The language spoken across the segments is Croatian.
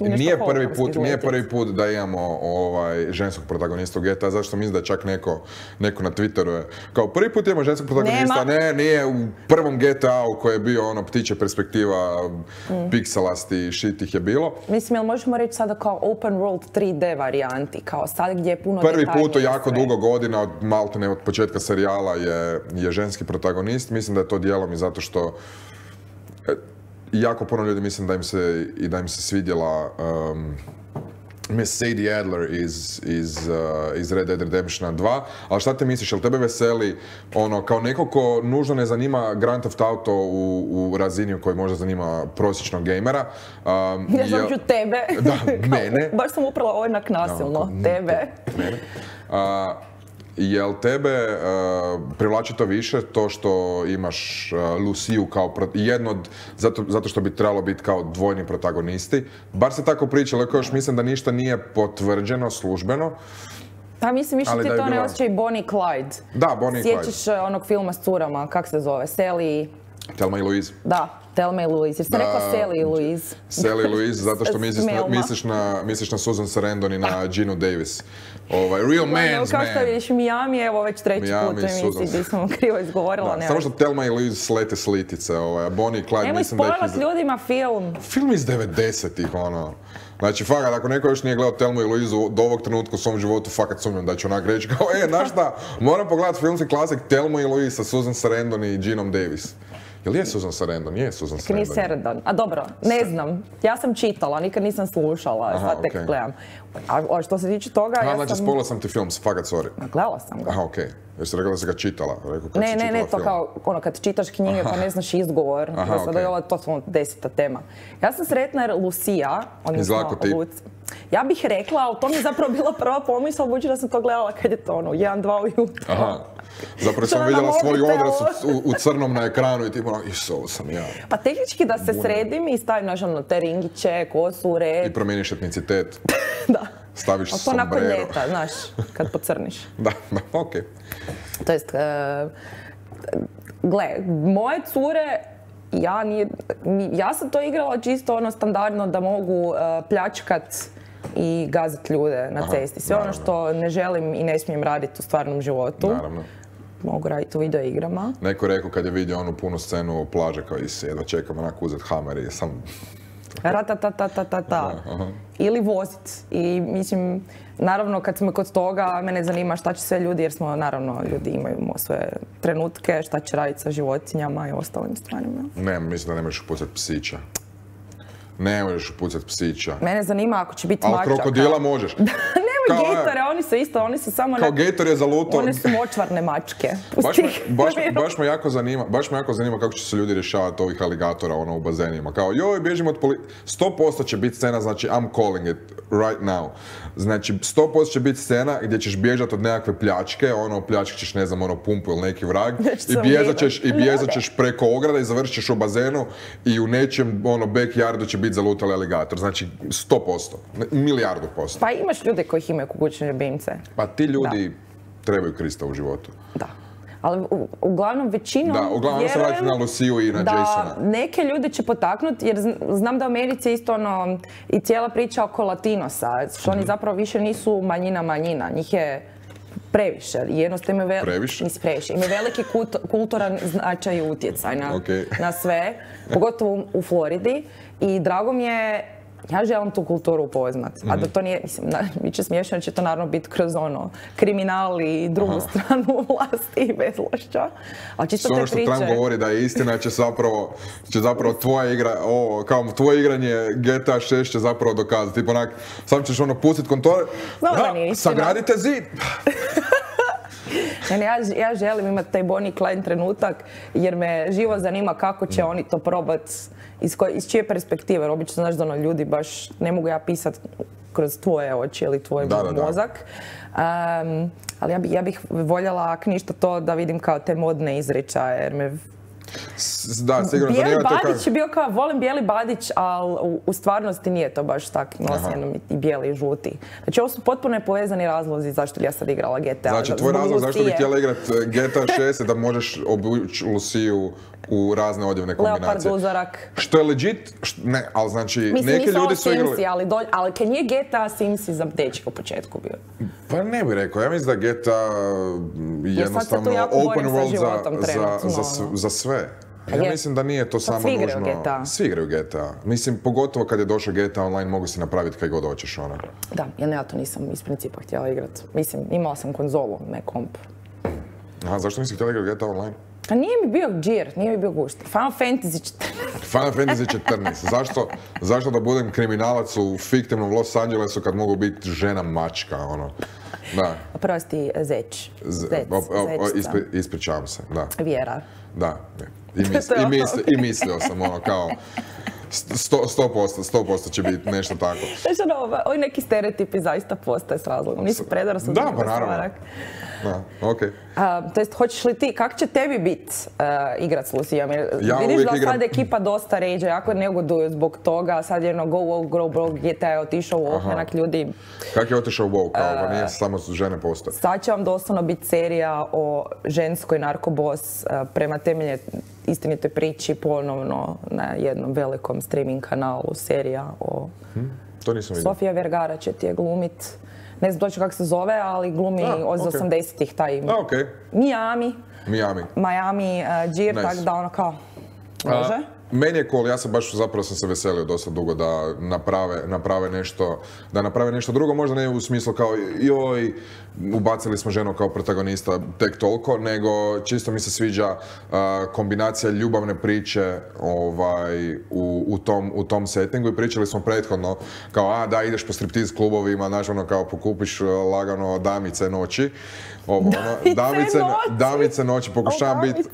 nije prvi put da imamo ženskog protagonista u GTA, zašto mislim da je čak neko na Twitteru je kao prvi put imamo ženskog protagonista, nije u prvom GTA-u koji je bio ono ptiče perspektiva, pikselasti, shit ih je bilo. Mislim, jel možemo reći sada kao open world 3D varijanti, kao sad gdje je puno detaljnije prvi put u jako dugo godina, od početka serijala je ženski protagonist, mislim da je to dijelom i zato što jako puno ljudi mislim da im se svidjela Miss Sadie Adler iz Red Dead Redemptiona 2, ali šta te misliš, jel tebe veseli ono, kao neko ko nužno ne zanima Grand Theft Auto u razini u kojoj možda zanima prosječnog gamera? Ja znam ću tebe. Da, mene. Baš sam upravo onak nasilno, tebe. Mene. Jel tebe privlači to više, to što imaš Luciju kao zato što bi trebalo biti kao dvojni protagonisti? Bar se tako pričalo, iako još mislim da ništa nije potvrđeno službeno. Pa mislim, više ti to ne osjećaj Bonnie Clyde. Da, Bonnie i Clyde. Sjećaš onog filma s curama, kak se zove, Sally... Thelma i Louise. Da, Thelma i Louise. Jer ste rekla Sally i Louise. Sally i Louise, zato što misliš na Susan Sarandon i na Ginu Davis. Real man's man. Kao što vidiš, Miami, evo već treći put u emisiji gdje sam krivo izgovorila. Samo što Thelma i Louise slete slitice, Bonnie i Clyde mislim da ih... Nemoj spojlat ljudima film. Film iz 90-ih, ono. Znači, fakat, ako neko još nije gledao Thelmu i Louise do ovog trenutka u svom životu, fakat sumnjam da će onak reći kao, znaš šta, moram pogledati filmski klasik Thelma i Louise sa Susan Sarandon i Ginom Davis. Jel je Susan Sarandon? Nije Susan Sarandon. Nije Sarandon. A dobro, ne znam. Ja sam čitala, nikad nisam slušala, sad tek gledam. A što se tiče toga, ja sam... Znači, spojila sam ti film, fakat sorry. Gledala sam ga. Aha, okej. Jer si rekla da si ga čitala. Ne, to kao, ono, kad čitaš knjige pa ne znaš izgovor. Sada je ovo totalno 10. tema. Ja sam sretna jer Lucija, odnosno ja bih rekla, ali to mi je zapravo bila prva pomisla, budući da sam to gledala kad je to ono, 1-2 ujutro. Aha. Zapravo sam vidjela svoj odraz u crnom na ekranu i ti ono, ovo sam ja. Pa tehnički da se sredim i stavim naš ono te ringiće, kosu u red. I promijeniš etnicitet. Da. Staviš sombrero. To nakon ljeta, znaš, kad pocrniš. Da, okej. To jest, gle, moje cure, ja sam to igrala čisto ono standardno da mogu pljačkat i gazat ljude na cesti. Sve ono što ne želim i ne smijem raditi u stvarnom životu. Naravno. Mogu raditi u videoigrama. Neko rekao kad je vidio onu punu scenu plaže kao i se jedva čekam onako uzet hamer i sam... Ratatatatata. Ili vozit. I mislim, naravno kad smo kod toga, mene zanima šta će sve ljudi, jer smo naravno ljudi imaju svoje trenutke, šta će raditi sa životinjama i ostalim stvarima. Ne, mislim da ne možeš upucat psića. Ne možeš upucat psića. Mene zanima ako će biti mačaka. Ali krokodila možeš. Nemoj gejtore, oni su isto, oni su samo... Kao gejtor je zalutao. One su močvarne mačke. Baš me jako zanima kako će se ljudi rješavati ovih aligatora u bazenima. Kao, joj, bježimo od 100% će biti scena, znači I'm calling it right now. Znači, 100% će biti scena gdje ćeš bježati od nekakve pljačke, pljačke ćeš, ne znam, pumpu ili neki vrag. I bježat ćeš preko ograda i završit ćeš u bazenu i u nečijem, backyardu će biti zalutali aligator. Znači, 100%. Milijardu posto. Pa imaš ljude koji imaju kućne ljubimce. Pa ti ljudi trebaju Krista u životu. Da. Ali uglavnom većinom uglavnom se vratiti na Luciju i na Jasona. Da, neke ljude će potaknuti, jer znam da u Americi je isto i cijela priča oko Latinosa, što oni zapravo više nisu manjina, njih je previše. Jednostavno imaju veliki kulturan značaj i utjecaj na sve, pogotovo u Floridi. I drago mi je, ja želim tu kulturu upoznat, a da to nije, mislim, bit će smiješno, će to naravno biti kroz kriminal i drugu stranu vlasti i bezvlašća. Ali čisto te priče... Ono što Trump govori da je istina, će zapravo tvoje igranje GTA 6 će zapravo dokazati. Tipo onak, sam ćeš pustit kontore, sagradite zid! Ja želim imati taj Bonnie i Clyde trenutak, jer me živo zanima kako će oni to probati, iz čije perspektive. Obično znaš da ljudi baš ne mogu ja pisati kroz tvoje oči ili tvoj mozak. Ali ja bih voljela, ako ništa to, da vidim kao te modne izričaje, jer me... Da, sigurno. Bijeli Badić je bio kao, volim Bijeli Badić, ali u stvarnosti nije to baš tako, nosi jednom i bijeli i žuti. Znači, ovo su potpuno povezani razlozi zašto bi ja sad igrala GTA. Znači, tvoj razlog zašto bi htjela igrati GTA 6 je da možeš obući Luciju u razne odjevne kombinacije. Leopard uzorak. Što je legit, ne, ali znači, mislim, neki ljudi su igrali... Simsi, ali kad nije GTA Simsi za dečke u početku bio? Pa ne bih rekao, ja mislim da GTA jednostavno open world za sve. Ja mislim da nije to samo nužno... Svi igraju GTA. Mislim, pogotovo kad je došao GTA Online, mogu si napraviti kaj god hoćeš, ono. Da, ja to nisam iz principa htjela igrat. Mislim, imala sam konzolu, ne komp. Aha, zašto nisi htjela igrati GTA Online? Pa nije mi bio džir, nije mi bio gušt. Final Fantasy 14. Final Fantasy 14. Zašto da budem kriminalac u fiktivnom Los Angelesu kad mogu biti žena mačka, ono? Da. Oprosti, Zeć. Ispričavam se, da. Vjera. Da, i mislio sam, ono, kao... 100% će biti nešto tako. Znači, ovi neki stereotipi zaista postoje s razlogom. Nisu predara su da, pa naravno. Da, okej. To jest, hoćeš li ti, kako će tebi biti igrat s Lucijom? Vidiš da sad ekipa dosta ređe, jako negoduju zbog toga, sad jedno go woke, grow broke, GTA je otišao u onak ljudi. Kak je otišao u woke, kao nije samo žene postoje? Sad će vam doslovno biti serija o ženskoj narkobos prema temelje istinitoj priči ponovno na jednom velikom streaming kanalu, serija o... To nisam vidio. Sofia Vergara će ti je glumit. Ne znam točno kako se zove, ali glumi od 80-ih taj Miami, džir, tako da ono kao, može? Meni je cool, ja sam baš zapravo sam se veselio dosta dugo da naprave nešto drugo, možda ne u smislu kao joj, ubacili smo ženu kao protagonista tek toliko, nego čisto mi se sviđa kombinacija ljubavne priče u tom settingu i pričali smo prethodno kao da ideš po striptiz klubovima, znaš ono kao pokupiš lagano damice noći, damice noći,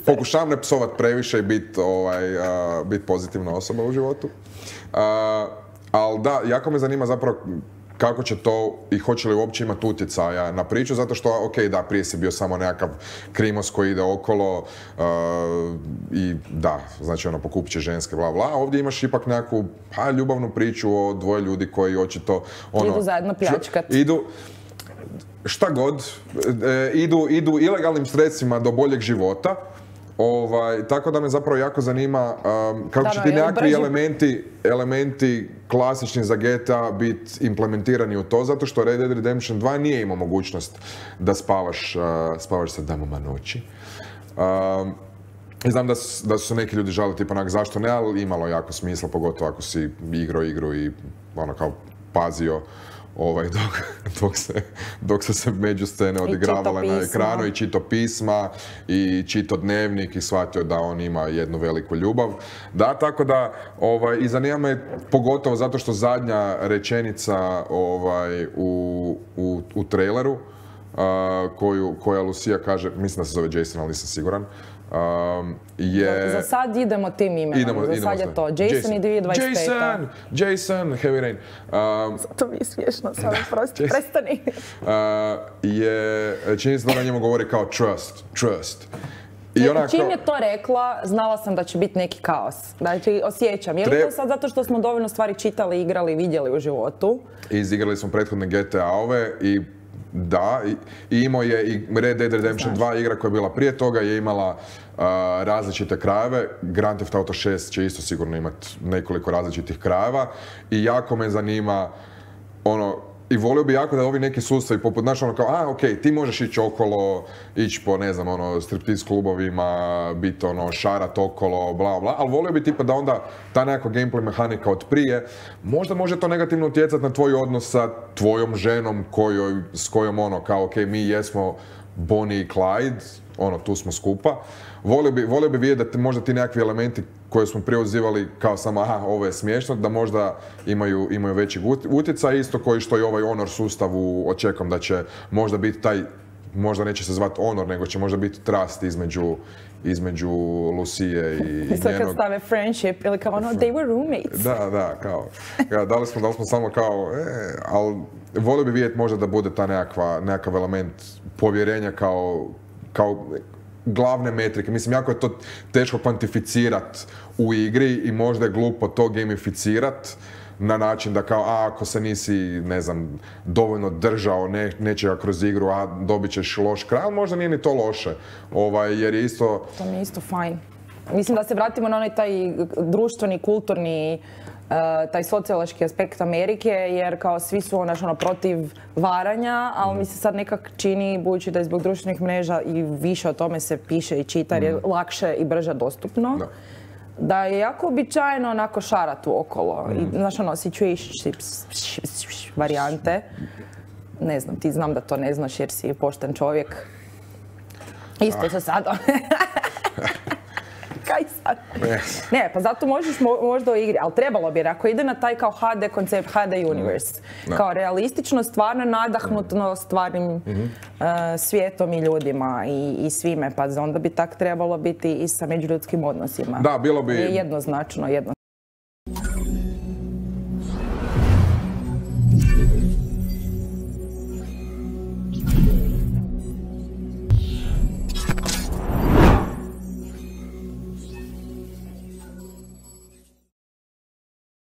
pokušavam ne psovat previše i biti pozitivna osoba u životu. Ali da, jako me zanima zapravo kako će to i hoće li uopće imati utjecaja na priču, zato što, ok, da, prije si bio samo nekakav krimos koji ide okolo i da, znači ono, pokupit će ženske, bla, bla. Ovdje imaš ipak nekakvu ljubavnu priču o dvoje ljudi koji očito, ono... Idu zajedno pljačkat. Šta god, idu ilegalnim sredstvima do boljeg života. Tako da me zapravo jako zanima kako će ti nekakvi elementi klasični za GTA biti implementirani u to, zato što Red Dead Redemption 2 nije imao mogućnost da spavaš sa damama noći. I znam da su se neki ljudi žalili tipa onak zašto ne, ali imalo jako smisla, pogotovo ako si igrao igru i ono kao pazio dok su se međuscene odigravale na ekranu i čito pisma i čito dnevnik i shvatio da on ima jednu veliku ljubav. Da, tako da i zanima me pogotovo zato što zadnja rečenica u traileru koja Lucia kaže, mislim da se zove Jason, ali nisam siguran, Za sad idemo tim imenom, za sad je to Jason i 2025. Jason, Heavy Rain. To mi je smiješno, samo prestani. Čini se da na njemu govori kao trust. Čim je to rekla, znala sam da će biti neki kaos. Znači, osjećam. Je li to sad zato što smo dovoljno stvari čitali, igrali, vidjeli u životu? Izigrali smo prethodne GTA-ove i da, i imao je i Red Dead Redemption 2 igra koja je bila prije toga, je imala različite krajeve. Grand Theft Auto 6 će isto sigurno imati nekoliko različitih krajeva i jako me zanima i volio bi jako da ovi neki sustavi poput, znaš, kao, ok, ti možeš ići okolo, ići po, ne znam, striptiz klubovima, biti, šarat okolo, bla, bla, ali volio bi tipa da onda ta nekakva gameplay mehanika od prije, možda može to negativno utjecati na tvoj odnos sa tvojom ženom s kojom, kao, ok, mi jesmo Bonnie i Clyde, tu smo skupa. Volio bi vidjeti da možda ti nekakvi elementi koje smo prije uzivali kao samo, ovo je smiješno, da možda imaju veći utjecaj, isto koji što i ovaj Honor sustav očekujem da će možda biti taj, možda neće se zvati Honor, nego će možda biti trust između Lucije i njenog... Isto kad stave friendship ili kao they were roommates. Da, kao, da li smo samo kao, ali volio bi vidjeti možda da bude ta nekakav element povjerenja kao glavne metrike. Mislim, jako je to teško kvantificirati u igri i možda je glupo to gamificirati na način da kao, ako se nisi, ne znam, dovoljno držao nečega kroz igru, dobit ćeš loš kraj, ali možda nije ni to loše, jer je isto... To mi je isto fajn. Mislim da se vratimo na onaj taj društveni, kulturni, taj sociološki aspekt Amerike, jer kao svi su protiv varanja, ali mi se sad nekak čini, budući da je zbog društvenih mreža i više o tome se piše i čita, jer je lakše i brže dostupno, da je jako običajno onako šarati okolo. I, znaš, situationship varijante. Ne znam, ti znam da to ne znaš jer si pošten čovjek. Isto se sad... Kaj sad? Ne, pa zato možeš možda u igri, ali trebalo bi, jer ako ide na taj kao HD koncept, HD universe, kao realistično, stvarno nadahnutno stvarnim svijetom i ljudima i svime, pa onda bi tak trebalo biti i sa međuljudskim odnosima. Da, bilo bi... Jednoznačno.